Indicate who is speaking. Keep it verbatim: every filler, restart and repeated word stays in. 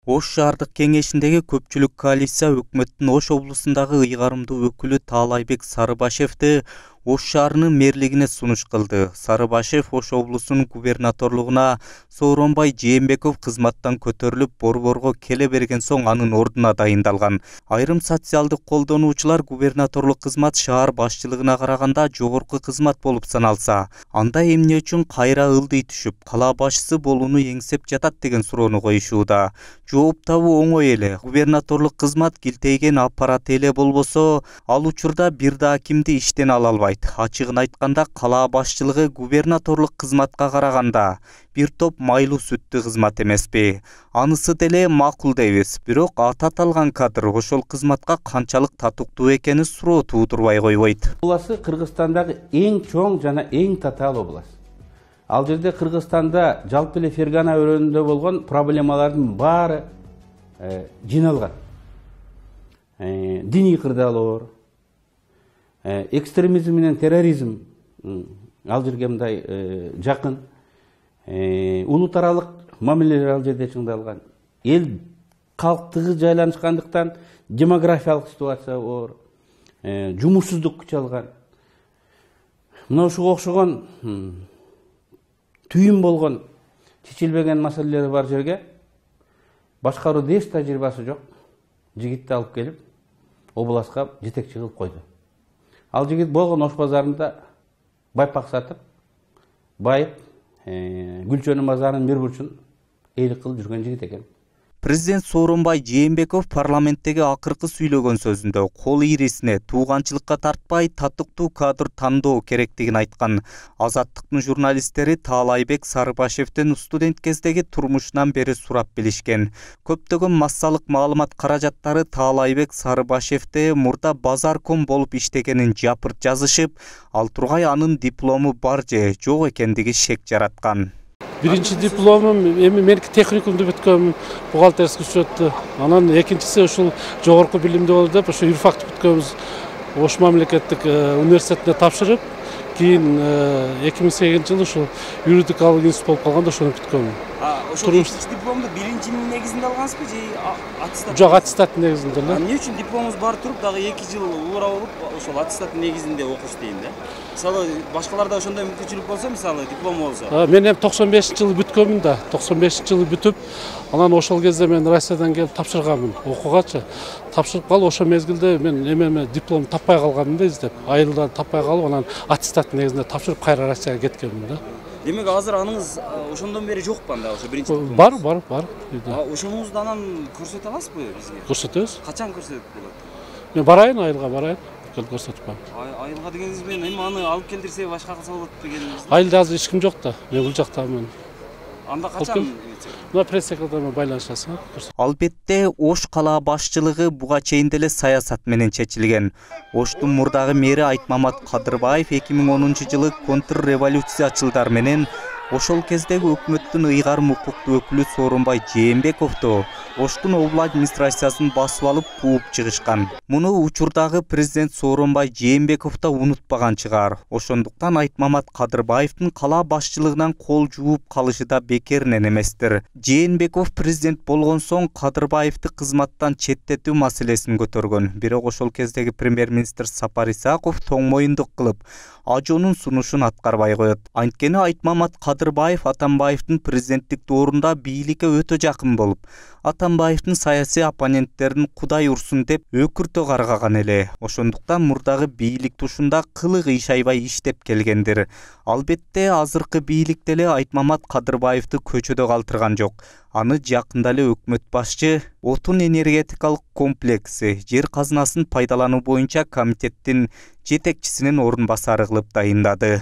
Speaker 1: Ош шаардык кеңешиндеги көпчүлүк коалиция өкмөттүн Ош облусундагы ыйгарымдуу өкүлү Таалайбек Сарыбашевди Ош шаарынын мэрлигине сунуш кылды. Сарыбашев Ош облусунун губернаторлугуна Сооронбай Жээнбеков кызматтан көтөрүлүп, борборго келе берген соң анын ордуна дайындалган. Айрым социалдык колдонуучулар губернаторлук кызмат шаар башчылыгына караганда жогорку кызмат болуп саналса, анда эмне үчүн кайра ылдый түшүп, кала башчысы болууну эңсеп жатат деген суроону коюшууда. Жооп табуу оңой эле. Губернаторлук кызмат килтейген аппарат эле болбосо, ал учурда бир да кимди иштен ала албайт. Ачыгын айтканда, кала башчылыгы губернаторлук кызматка караганда бир топ майлуу сүттүү кызмат эмеспи? Анысы деле макул дейбиз. Бирок аты аталган кадр ошол кызматка канчалык татыктуу экени суроо туудурбай койбойт.
Speaker 2: Обласы Кыргызстандагы эң чоң жана эң татаал область. Ал жерде Кыргызстанда жалпы эле Фергана өрөөнүндө болгон проблемалардын баары э, жиналган. Э, диний кырдаалоор, э, экстремизм менен терроризм э, ал жерге мындай э, жакын. Э, улут аралык мамилелер ал жерде чыңдалган. Эл калктыгы жайланышкандыктан демографиялык ситуация оор, э, жумушсуздук күч алган. Мына ушуга окшогон түйүн болгон чечилбеген маселелери бар жерге башкарууда эч тажрыйбасы жок жигитти алып келип областка жетекчи кылып койду. Ал жигит болгон Ош базарында байпак сатып, байып, э, Гүлчөнүн базарынын бир бурчун эйлик кылып жүргөн жигит экен.
Speaker 1: Президент Сооронбай Жээнбеков парламенттеги акыркы сүйлөгөн сөзүндө кол ийрисине тууганчылыкка тартпай татыктуу кадр тандоо керектигин айткан. Азаттыктын журналисттери Таалайбек Сарыбашевдин студент кездеги турмушунан бери сурап билишкен. Көптөгөн массалык маалымат каражаттары Таалайбек Сарыбашевде мурда базарком болуп иштегенин жапырт жазышып, ал тургай анын диплому бар же жок экендиги шек жараткан.
Speaker 3: Биринчи дипломум эми меники техникумду бүткөм, бухгалтерский учетту. Анан экинчиси ушул жогорку билимди болду деп, ошо юрфакты бүткөнбүз. Ош мамлекеттик университетине тапшырып, кийин эки миң сегизинчи жылы ушул юридикалык институт болуп калганда ошону бүткөм.
Speaker 4: А ошол экинчи дипломду биринчинин негизинде алгансызбы же аттестат?
Speaker 3: Жок, аттестаттын негизинде эле.
Speaker 4: Эмне үчүн дипломуңуз бар туруп дагы эки жыл улура болуп ошол аттестаттын негизинде окуш дейм да? Мисалы башкаларда ошондой мүмкүнчүлүк болсо, мисалы диплом болсо.
Speaker 3: Мен эми токсон бешинчи жылы бүткөнмүн да. токсон бешинчи жылы бүтүп, анан ошол кезде мен Россиядан келип тапшырганмын окуугачы. Тапшырып калып, ошол мезгилде мен эме диплом таппай калганмын да издеп. Айылда таппай калып, анан аттестаттын негизинде тапшырып кайра Россияга кеткенмин да.
Speaker 4: Демек азыр аныңыз ошондон бери жокпу анда ошо биринчи диплом?
Speaker 3: Бар, бар, бар.
Speaker 4: А ошоңузду анан көрсөтө аласызбы бизге?
Speaker 3: Көрсөтөбүз.
Speaker 4: Качан көрсөтөт болот?
Speaker 3: Мен барайын, айылга барайын. Көрсөтүп коем.
Speaker 4: Айылга дегениңиз менен эми аны алып келдирсе башка кылса болот дегениңиз?
Speaker 3: Айылда азыр эч ким жок да. Мен бул жактамын.
Speaker 4: Анда качан?
Speaker 3: Мына пресс-секретарь байланышасың.
Speaker 1: Албетте, Ош кала башчылыгы буга чейин деле саясат менен чечилген. Оштун мурдагы мэри Айтмамат Кадырбаев эки миң онунчу жылы контрреволюциячылдар менен ошол кездеги өкмөттүн ыйгарым укуктуу өкүлү Сооронбай Жээнбековду Оштун обла администрациясын басып алып кууп чыгышкан. Муну учурдагы президент Сооронбай Жээнбеков да унутпаган чыгар. Ошондуктан Айтмамат Кадырбаевдин кала башчылыгынан кол жууп калышы да бекеринен эместир. Жээнбеков президент болгон соң Кадырбаевди кызматтан четтетүү маселесин көтөргөн. Бирок ошол кездеги премьер-министр Сапар Исаков тоң моюндук кылып, ажонун сунушун аткарбай коет. Анткени Айтмамат Кадырбаев Атамбаевдин президенттик доорунда бийликке өтө жакын болуп, Атамбаевдин саясий оппоненттерин Кудай урсун деп өкүртө каргаган эле. Ошондуктан мурдагы бийлик тушунда кылы кыйшайбай иштеп келгендир. Албетте, азыркы бийлик деле Айтмамат Кадырбаевди көчөдө калтырган жок. Аны жакында эле өкмөт башчы отун энергетикалык комплекси жер казынасын пайдалануу боюнча комитеттин жетекчисинин орун басары кылып дайындады.